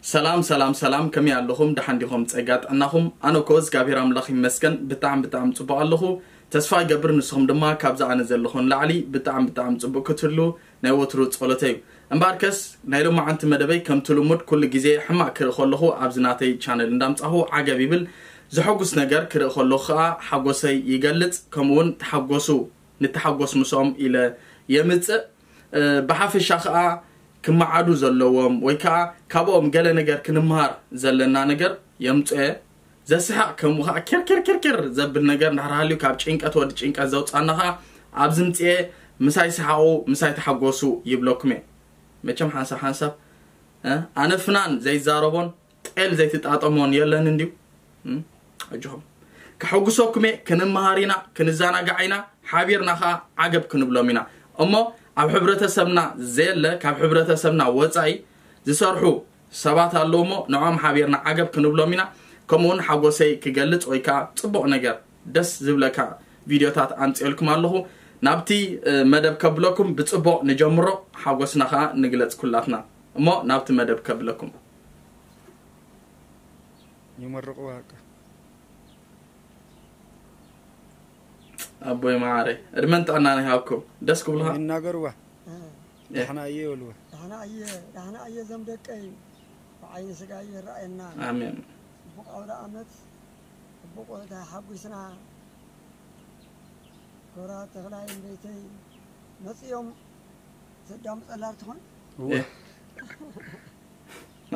ሰላም ሰላም ሰላም፣ ከመይ ኣለኹም? ደሓን ዲኹም? ጸጋ ጥዕናኹም? ኣነ እኮ እግዚኣብሔር ኣምላኽ ይመስገን ብጣዕሚ ብጣዕሚ ጽቡቕ ኣለኹ። ተስፋ ይገብር ንስኹም ድማ ካብዛ ኣነ ዘለኹ ንላዕሊ ብጣዕሚ ብጣዕሚ ጽቡቕ ክትህሉ ናይ ወትሩ ጸሎተይ እዩ። እምበኣርከስ ናይ ሎማዓንቲ መደበይ ከምቲ ልሙድ ኩሉ ግዜ ሕማቕ ክርኢ ከለኹ ኣብዚ ናተይ ቻነል እንዳምጻኹ ዓገብ ይብል። ዘሐጉስ ነገር ክርኢ ከለኹ ኸኣ ሓጎሰይ ይገልጽ። ከምኡውን ተሓጎሱ ንተሓጎስ ምስኦም ኢለ የምጽእ። ብሓፈሻ ኸኣ ክመዓዱ ዘለዎም ወይ ከኣ ካብኦም ገለ ነገር ክንምሃር ዘለና ነገር የምጽኦ። ዘስሕቕ ከምኡ ኸኣ ኪር ኪር ኪር ኪር ዘብል ነገር እንድሕር ሃልዩ ካብ ጭንቀት ወዲ ጭንቀት ዘውጻና ኸኣ ኣብዚ ምጽኤ ምሳይ ሰሓቑ ምሳይ ተሓጎሱ ይብለኩም እየ። መቸም ሓንሳብ ሓንሳብ ኣነ ፍናን ዘይዛረቦን ጤል ዘይትጣጠሞን የለን እንድዩ። ኣጆኹም ከሐጉሰኩም እየ። ክንመሃር ኢና፣ ክንዘናጋዕ ኢና፣ ሓቢርና ኸኣ ዓገብ ክንብሎም ኢና። እሞ ኣብ ሕብረተሰብና ዘየለ ካብ ሕብረተሰብና ወጻኢ ዝሰርሑ ሰባት ኣለዉ እሞ ንዖም ሓቢርና ዓገብ ክንብሎም ኢና። ከምኡውን ሓጎሰይ ክገልጽ ወይ ከኣ ጽቡቕ ነገር ደስ ዝብለካ ቪድዮታት ኣምጽኤልኩም ኣለኹ። ናብቲ መደብ ከብለኩም ብጽቡቕ ንጀምሮ፣ ሓጎስና ኸኣ ንግለጽ ኩላትና። እሞ ናብቲ መደብ ከብለኩም። ይመርቕዋ በቃ። ኣቦይ መዓረይ ዕድመን ጥዕናን ይሃብኩም። ደስ ክብሉኻ። ይናገርዋ። ዳሕና እየ ይበልዋ። ዳሕና እየ ዳሕና እየ ዘም ደቀይ ብዓይኒ ስጋ ይረኣየና። ኣሜን። ጽቡቕ ኣውደ ኣመት ጽቡቕ ተሓጒስና። ክብራት ተኽላይ እምበይተይ መጽዮም ዘዳምፀላ ትኾን።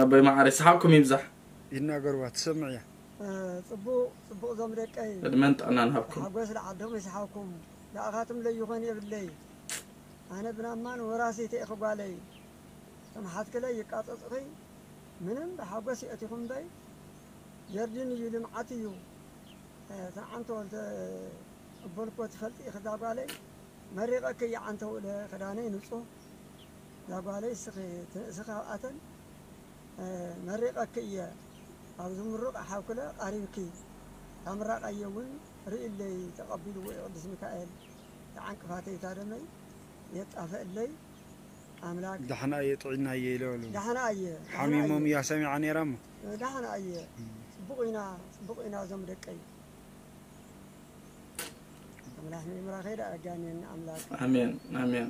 ኣቦይ መዓረይ ሰሓብኩም ይብዛሕ። ይናገርዋ ትሰምዕ እያ። ጽቡቕ ጽቡቕ ዞም ደቀይ ዕድመን ጥዕናን ሃብኩም። ሓጎስ ለዓዶም ይስሓብኩም። ንኣኻትም ለይኾን የብለይ ኣነ ብናማን ወራሲተ ኢኺ ጓለይ። ተምሓትክለይ ይቃጸጽኺ ምንም ብሓጎስ የእቲኹም እምበይ ጀርዲን እዩ ልምዓት እዩ። ተንዓንቶ እንተ እበልኮ ትፈልጢ ኢኺ እዛ ጓለይ መሪቐኪ እየ ዓንተ ውእለ ክዳነይ ንጹህ እዛ ጓለይ እስኺ ትንእሲ ካብኣተን መሪቐኪ እየ ኣብዚ ምሩቕ ሓውክለ ቐሪብኪ ታምራቐየ እውን ርእይለይ ተቐቢልዎ እዩ ቅዱስ ሚካኤል ተዓንቅፋተይ እታ ደመይ የጣፈእለይ ኣምላክ ዳሕና እየ ጥዒና እየ ኢለ በሉ ዳሕና እየ ዳሕና እየ። ሓሚሞም እያ ሰሚዓ ነይራ እሞ ዳሕና እየ ጽቡቕ ኢና ጽቡቕ ኢና እዞም ደቀይ ኣምላክ ምምራኸይ ዳ ኣጋኔን ኣምላክ ኣሜን ኣሜን።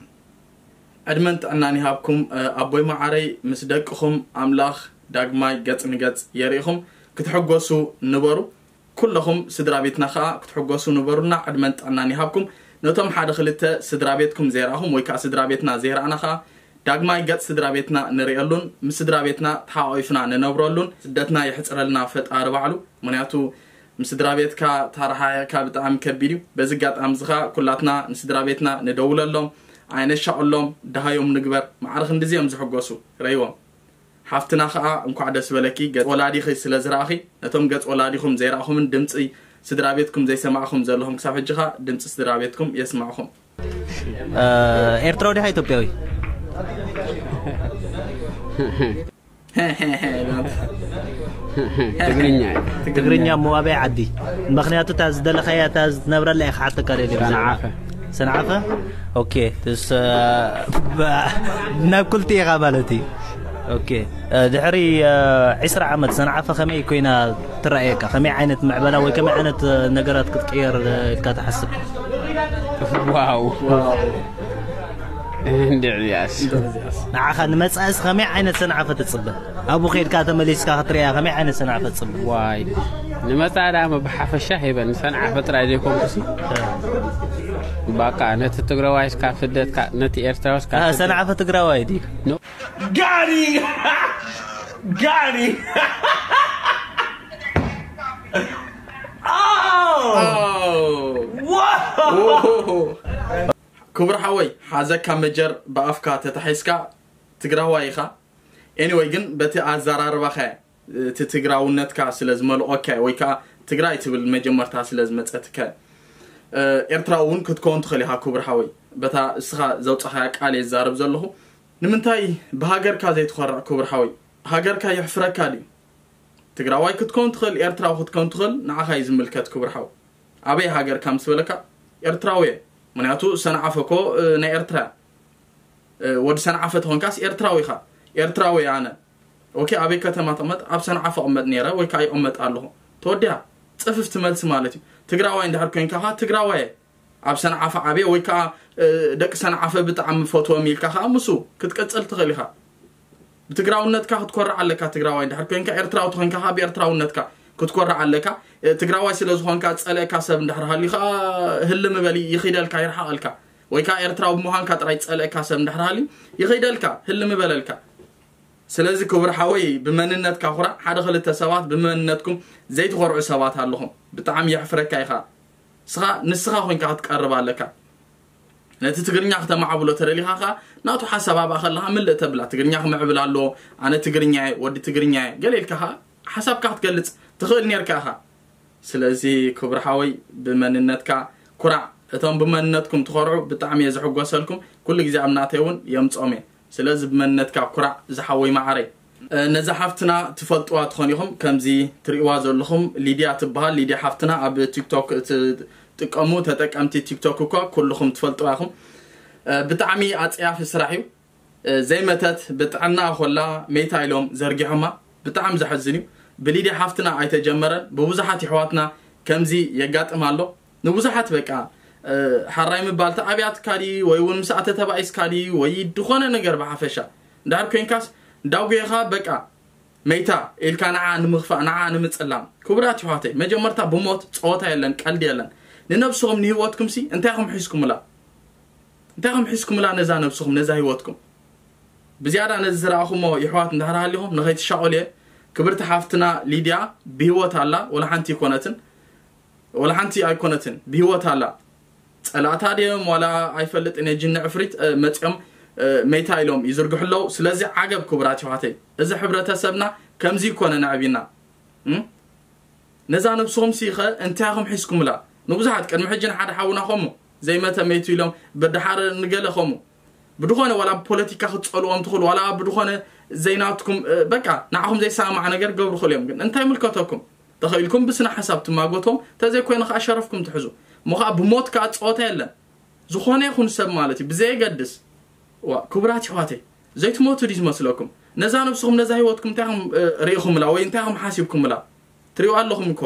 ዕድመን ጥዕናን ይሃብኩም ኣቦይ መዓረይ ምስ ደቅኹም ኣምላኽ ዳግማይ ገጽ ንገጽ የርእኹም ክትሕጎሱ ንበሩ። ኩለኹም ስድራ ቤትና ኸኣ ክትሕጎሱ ንበሩልና ዕድመን ጥዕናን ይሃብኩም። ነቶም ሓደ ክልተ ስድራ ቤትኩም ዘይረኣኹም ወይ ከኣ ስድራ ቤትና ዘይረኣና ኸኣ ዳግማይ ገጽ ስድራ ቤትና ንርእየሉን ምስ ስድራ ቤትና ተሓቋቒፍና ንነብረሉን ስደትና የሕጽረልና ፈጣሪ ባዕሉ። ምኽንያቱ ምስ ስድራ ቤትካ ተረሓሒቕካ ብጣዕሚ ከቢድ እዩ። በዚ ኣጋጣሚ እዚ ኸኣ ኩላትና ንስድራ ቤትና ንደውለሎም፣ ኣይነሻቕሎም፣ ደሃዮም ንግበር። ማዕረ ክንድዚ እዮም ዝሕጎሱ፣ ርእይዎም። ሓፍትና ኸኣ እንኳዕ ደስ በለኪ፣ ገጽ ወላዲኺ ስለ ዝረኣኺ፣ ነቶም ገጽ ወላዲኹም ዘይረኣኹምን ድምጺ ስድራ ቤትኩም ዘይሰማዕኹም ዘለኹም ክሳብ ሕጂ ኸኣ ድምጺ ስድራ ቤትኩም የስማዕኹም። ኤርትራዊ ዲኻ ኢትዮጵያዊ? ትግርኛ ትግርኛ እሞ ኣበይ ዓዲ? ምኽንያቱ እታ ዝደለኻያ እታ ዝትነብረላ እየ ክሓተካ ደልየ። ሰንዓፈ። ሰንዓፈ? ኦኬ። ትስ ናብ ክልቲኡ ኢኻ ማለት እዩ። ኦኬ። ድሕሪ ዒስራ ዓመት ሰንዓፈ ከመይ ኮይና ትረኣየካ? ከመይ ዓይነት ምዕበላ ወይ ከመይ ዓይነት ነገራት ክትቅየር ኢልካ ትሓስብ? ዋው እንድዕያስ ንዓኻ ንመጻእስ ከመይ ዓይነት ሰንዓፈ ትጽበ? ኣብኡ ከይድካ ተመሊስካ ክትሪኣ ከመይ ዓይነት ሰንዓፈ ትጽበ? ዋይ ንመጻእ ደኣ ብሓፈሻ ሄበን ሰንዓፈ ጥራይ ዘይኮንኩሲ ባቃ ነቲ ትግራዋይስ ካብ ስደት ነቲ ኤርትራውስ ካብ ሰንዓፈ ትግራዋይ ድዩ? ጋሪ ጋሪ ክቡር ሓወይ ሓዘካ መጀር ብኣፍካ ተታሒዝካ ትግራዋይ ኢኻ። ኤኒወይ ግን በቲ ኣዘራርባኻ እቲ ትግራውነትካ ስለ ዝመልኦካ ወይ ከዓ ትግራይ ትብል መጀመርታ ስለ ዝመፀትካ ኤርትራዊ እውን ክትከውን ትኽእል ኢኻ ክቡር ሓወይ። በታ እስኻ ዘውፃኻያ ቃል እየ ዝዛረብ ዘለኹ። ንምንታይ ብሃገርካ ዘይትኾርዕ ክቡር ሓወይ? ሃገርካ የሕፍረካ ድዩ? ትግራዋይ ክትከውን ትኽእል፣ ኤርትራዊ ክትከውን ትኽእል፣ ንዓኻ እዩ ዝምልከት ክቡር ሓው። ኣበይ ሃገርካ ምስ በለካ ኤርትራዊ እየ። ምኽንያቱ ሰንዓፈ እኮ ናይ ኤርትራ እያ። ወዲ ሰንዓፈ ተኾንካስ ኤርትራዊ ኢኻ። ኤርትራዊ እየ ኣነ። ኦኬ፣ ኣበይ ከተማ ትቕመጥ? ኣብ ሰንዓፈ እቕመጥ ነይረ ወይ ከዓ ይቕመጥ ኣለኹ። ተወዲያ። ጽፍፍቲ መልሲ ማለት እዩ። ትግራዋይ እንድሕር ኮይንካ ኸዓ ትግራዋይ ኣብ ሰንዓፈ ዓብየ ወይ ከዓ ደቂ ሰንዓፈ ብጣዕሚ ፈትዎም ኢልካ ከዓ ምሱ ክትቅፅል ትኽእል ኢኻ። ብትግራውነትካ ክትኮርዕ ኣለካ። ትግራዋይ እንድሕር ኮይንካ፣ ኤርትራዊ ተኮይንካ ከዓ ብኤርትራውነትካ ክትኮርዕ ኣለካ። ትግራዋይ ስለ ዝኾንካ ዝፀልእካ ሰብ እንድሕር ሃልዩ ከዓ ህልም በል፣ ይኺደልካ፣ ይርሓቐልካ። ወይ ከዓ ኤርትራዊ ብምዃንካ ጥራይ ዝፀልእካ ሰብ እንድሕር ሃልዩ ይኺደልካ፣ ህልም በለልካ። ስለዚ ክቡር ሓወይ ብመንነትካ ኩራዕ። ሓደ ክልተ ሰባት ብመንነትኩም ዘይትኾርዑ ሰባት ኣለኹም። ብጣዕሚ የሕፍረካ ኢኻ። ንስኻ ንስኻ ኮይንካ ክትቀርብ ኣለካ። ነቲ ትግርኛ ክተማዕብሎ ተደሊኻ ኸዓ ናቱ ሓሳብ ኣብኣ ከለኻ ምልእ ተብላ። ትግርኛ ክምዕብል ኣለዎ፣ ኣነ ትግርኛ እየ፣ ወዲ ትግርኛ እየ፣ ገለ ኢልካ ኸዓ ሓሳብካ ክትገልጽ ትኽእል ኔርካ ኢኻ። ስለዚ ክቡር ሓወይ ብመንነትካ ኩራዕ። እቶም ብመንነትኩም ትኾርዑ ብጣዕሚ እየ ዝሕጎሰልኩም። ኩሉ ግዜ ኣብ ናተይ እውን የምጾም እየ። ስለዚ ብመንነትካ ኩራዕ ዝሓወይ መዓረይ። ነዛ ሓፍትና ትፈልጥዋ ትኾን ኢኹም። ከምዚ ትርእዋ ዘለኹም ሊድያ ትበሃል። ሊድያ ሓፍትና ኣብ ቲክቶክ ትጥቀሙ ተጠቀምቲ ቲክቶክ እኳ ኩልኹም ትፈልጥዋ ኢኹም። ብጣዕሚ ኣጸያፊ ስራሕ እዩ። ዘይመተት ብጥዕና ኮላ መይታ ኢሎም ዘርጊሖማ። ብጣዕሚ ዘሐዝን እዩ። ብሊድያ ሓፍትና ኣይተጀመረን። ብብዙሓት የሕዋትና ከምዚ የጋጥም ኣሎ። ንብዙሓት በቃ ሓራይ ምባል ተኣብያትካ ድዩ ወይ እውን ምስ ኣተ ተባኢስካ ድዩ ወይ ድኾነ ነገር ብሓፈሻ እንድሕር ኮይንካስ ዳጉየኻ በቃ መይታ ኢልካ ንዓ ንምኽፋእ ንዓ ንምጽላም። ክቡራት ይሕዋተይ መጀመርታ ብሞት ጸወታ የለን ቀልዲ የለን። ንነብስኹም ንህይወትኩምሲ እንታይ ኢኹም ሒዝኩምላ? እንታይ ኢኹም ሒዝኩምላ ነዛ ነብስኹም ነዛ ህይወትኩም? ብዝያዳ ነዚ ዝረኣኹሞ ይሕዋት እንድሕር ሃሊኹም ንኸይትሻቐሉ እየ። ክብርቲ ሓፍትና ሊድያ ብህይወት ኣላ፣ ወላ ሓንቲ ኣይኮነትን፣ ወላ ሓንቲ ኣይኮነትን፣ ብህይወት ኣላ። ጸላእታ ድዮም ዋላ ኣይፈልጥን እየ፣ ጅኒ ዕፍሪት መጺኦም መይታ ኢሎም ይዝርግሑ ኣለዉ። ስለዚ ዓገብ ክቡራት ይሕዋተይ፣ እዚ ሕብረተሰብና ከምዚ ይኮነ ነዕቢና። ነዛ ነብስኹም ሲኸ እንታይ ኢኹም ሒዝኩምላ? ንብዙሓት ቅድሚ ሕጂ ንሓደ ሓውና ኸሙ ዘይመተ መይቱ ኢሎም ብድሓር ንገለ ኸሙ ብድኾነ ዋላ ብፖለቲካ ክትጸልዎም ትኽእሉ ዋላ ብድኾነ ዘይናትኩም በቃ ንዓኹም ዘይሰማማዕ ነገር ገብሩ ክእሉ እዮም። ግን እንታይ ምልከተኩም? ተኽኢልኩም ብስነ ሓሳብ ትማጎቶም፣ ተዘይኮይኑ ከዓ ሸረፍኩም ትሕዙ። እሞ ከዓ ብሞት ከዓ ፀወታ የለን። ዝኾነ ይኹን ሰብ ማለት እዩ ብዘየገድስ። ዋ ክቡራት ይሕዋተይ ዘይትሞቱ ድዩ ዝመስለኩም? ነዛ ነብስኹም ነዛ ህይወትኩም እንታይ ኢኹም ርኢኹምላ ወይ እንታይ ኢኹም ሓሲብኩምላ? ትሪኡ ኣለኹም እኮ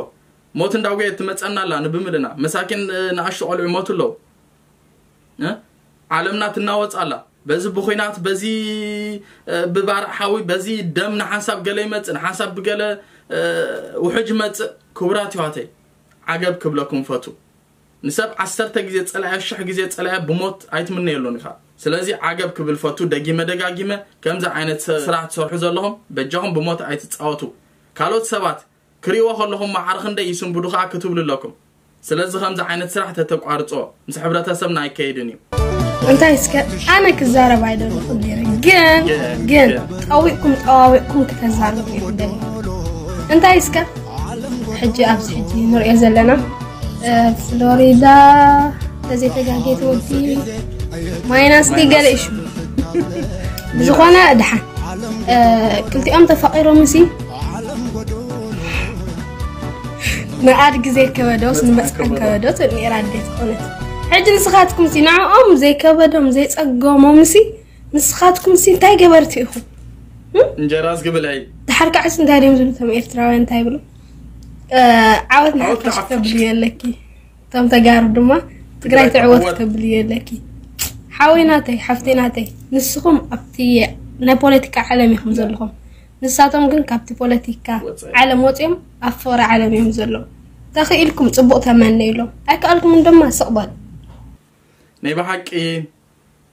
ሞት እንዳጎየት ትመፀና ኣላ ንብምልና መሳኪን ንኣሽቱ ቆልዑ ይሞቱ ኣለዉ። ዓለምና ትናወፅ ኣላ በዚ ብኹናት በዚ ብባርዕ ሓዊ በዚ ደም ንሓንሳብ ገለ ይመፅእ ንሓንሳብ ብገለ ውሕጅ ይመፅእ። ክቡራት ይሕዋተይ ዓገብ ክብለኩም ፈቱ። ንሰብ ዓሰርተ ግዜ ፀላያ ሽሕ ግዜ ፀላያ ብሞት ኣይትምነየሉን ኢኻ። ስለዚ ዓገብ ክብል ፈቱ። ደጊመ ደጋጊመ ከምዚ ዓይነት ስራሕ ትሰርሑ ዘለኹም በጃኹም ብሞት ኣይትፃወቱ። ካልኦት ሰባት ክሪእዎ ከለኹም ማዕረ ክንደይ ይስንብዱ ከዓ ክትብሉ ኣለኩም። ስለዚ ከምዚ ዓይነት ስራሕ ተተቋርፅዎ ምስ ሕብረተሰብና ኣይከይድን እዩ። እንታይ እስከ ኣነ ክዛረብ ኣይደለኹን ነይረ፣ ግን ግን ጠዊቕኩም ጠዋዊቕኩም ክተዛርቡ ይደሊ። እንታይ እስከ ሕጂ ኣብዚ ሕጂ ንሪኦ ዘለና ፍሎሪዳ ተዘይተጋጌ ትወዲ ማይናስ ገለ እሹ ብዝኾነ ድሓን ክልቲኦም ተፋቒሮም ሲ ንኣድጊ ዘይከበዶስ ንመፅዓን ከበዶ ትብል ነይራ ኣደ ዝኾነት። ሕጂ ንስኻትኩም ሲ ንዕኦም ዘይከበዶም ዘይፀገሞም ሲ ንስኻትኩም ሲ እንታይ ገበርቲ ኢኹም? እንጀራ ዝግብለይ ድሓር ካዕስ እንታይ ድዮም ዝብሉ እቶም ኤርትራውያን እንታይ ይብሉ? ዓወት ንሓፋሽ ተብልዮ ኣለኪ። እቶም ተጋሩ ድማ ትግራይ ትዕወት ተብልዮ ኣለኪ። ሓወይ ናተይ ሓፍተይ ናተይ ንስኹም ኣብቲ ናይ ፖለቲካ ዓለም ኢኹም ዘለኹም። ንሳቶም ግን ካብቲ ፖለቲካ ዓለም ወፂኦም ኣብ ፍቕሪ ዓለም እዮም ዘለዉ። ተኽኢልኩም ፅቡቕ ተመነይሎም ኣይከኣልኩምን ድማ ስቕ በሉ። ናይ ብሓቂ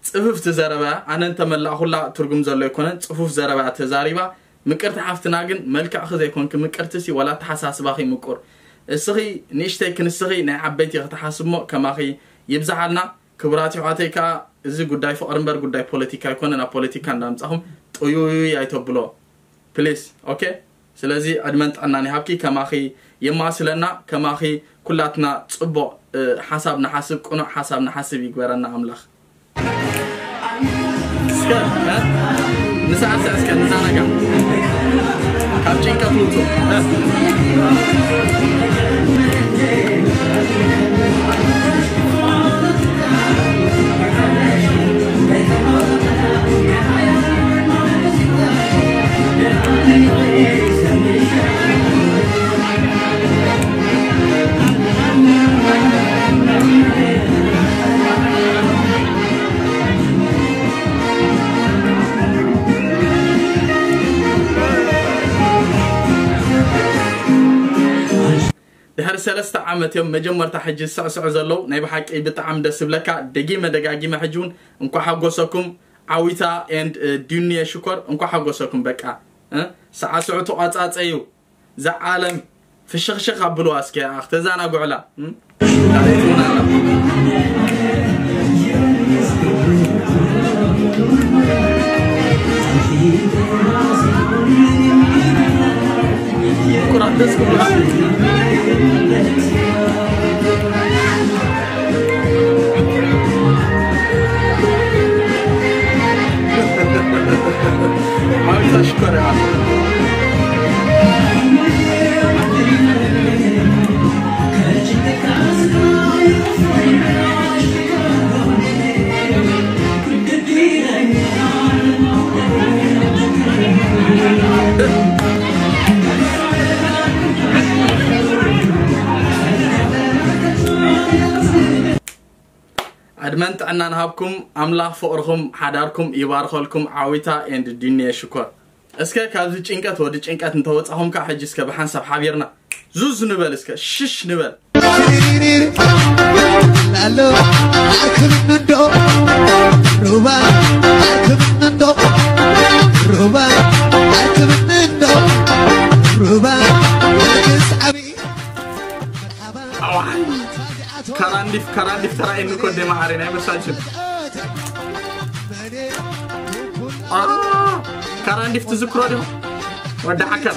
ፅፍፍቲ ዘረባ ኣነ እንተመላእኹላ ትርጉም ዘሎ ኣይኮነን። ፅፉፍ ዘረባ ተዛሪባ ምቅርቲ ሓፍትና ግን መልክዕኺ ዘይኮንኪ ምቅርቲ ሲ ዋላ ኣተሓሳስባኺ ምቁር። እስኺ ንእሽተይ ክንስኺ ናይ ዓበይቲ ክትሓስብሞ ከማኺ ይብዝሓልና። ክቡራት ይሕዋተይ ከዓ እዚ ጉዳይ ፍቕሪ እምበር ጉዳይ ፖለቲካ ኣይኮነን። ኣብ ፖለቲካ እንዳምፃኹም ጥዩይ ኣይተብሎ ፕሊስ። ኦኬ ስለዚ ዕድመን ጥዕናን ይሃብኪ። ከማኺ የማስለና፣ ከማኺ ኩላትና ፅቡቕ ሓሳብ ንሓስብ፣ ቅኑዕ ሓሳብ ንሓስብ ይግበረና ኣምላኽ። እስከ ንስዕስዕ እስከ ንዘናጋዕ ካብ ጭንቀት ውፁ። ሰለስተ ዓመት እዮም መጀመርታ ሕጂ ዝስዕስዑ ዘለዉ። ናይ ብሓቂ ብጣዕሚ ደስ ዝብለካ። ደጊመ ደጋጊመ ሕጂ እውን እንኳዕ ሓጎሰኩም ዓዊታ and ዱንየ ሽኮር፣ እንኳዕ ሓጎሰኩም። በቃ እ? ሳዕስዑ ተቋጻጸዩ። እዛ ዓለም ፍሽኽሽኽ ኣብልዋ እስኪ፣ ኣኽ ተዛናግዑላ። እም? ካልኣይቲ እውን ኣላ። ኩራት ደስ ክብሉኻ። ዓዊታ ሽኮር እያ። ዕድመን ጥዕናን ሃብኩም ኣምላኽ፣ ፍቕርኹም ሓዳርኩም ይባርኸልኩም። ዓዊታ and ዱንየ ሽኮር። እስከ ካብዚ ጭንቀት ወዲ ጭንቀት እንተወጻኹም ከኣ ሕጂ እስከ ብሓንሳብ ሓቢርና ዙዝ ንበል፣ እስከ ሽሽ ንበል። ኣሎ ኣርክብኒ እንዶ ሩባ ኣርክብኒ እንዶ ሩባ ኣርክብኒ እንዶ ሩባ ኣርክስ ዓብዪ ኣዋይ፣ ካራንዲፍ፣ ካራንዲፍ ተራእየኒ እኮ፣ ደማ ዓሬ ናይ መሳጅን። አ፣ ካራንዲፍ ትዝክሮ ዲኹም? ወዲ ዓከር።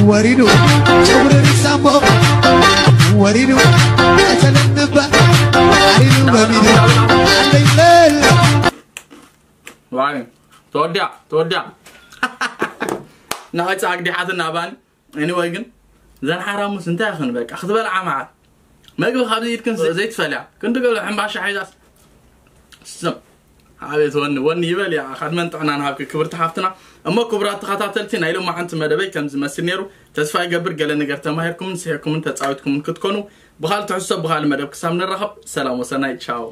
ወሪዱ ጨጉሪ ሪሳሞ ወሪዱ ቀተለንባ ዓሪዱ በሚዱ ኣለይለል ዋይ፣ ተወዲያ፣ ተወዲያ። ንኸይፀዓግ ዲሓትና ባኒ። Anyway ግን፣ ዘን ሓራሙስ እንታይ ይኹን በቃ፣ ክትበልዓ መዓት። መግቢ ካብዚ ኢድክን ዘይትፈልያ። ክንዲ ገለ ሕምባሻ ሒዛስ። ስም። ኣቤት ወኒ፣ ወኒ ይበል እያ። ካድመን ጥዕና ንሃብኪ ክብርቲ ሓፍትና። እሞ ክቡራት ተኸታተልቲ፣ ናይ ሎማዓንቲ መደበይ ከም ዝመስል ነይሩ። ተስፋ ይገብር ገለ ነገር ተማሂርኩምን ስሒርኩምን ተጻዊትኩምን ክትኮኑ። ብኻልእ ትሕዝቶ፣ ብኻልእ መደብ ክሳብ ንራኸብ፣ ሰላም ወሰናይ፣ ቻው።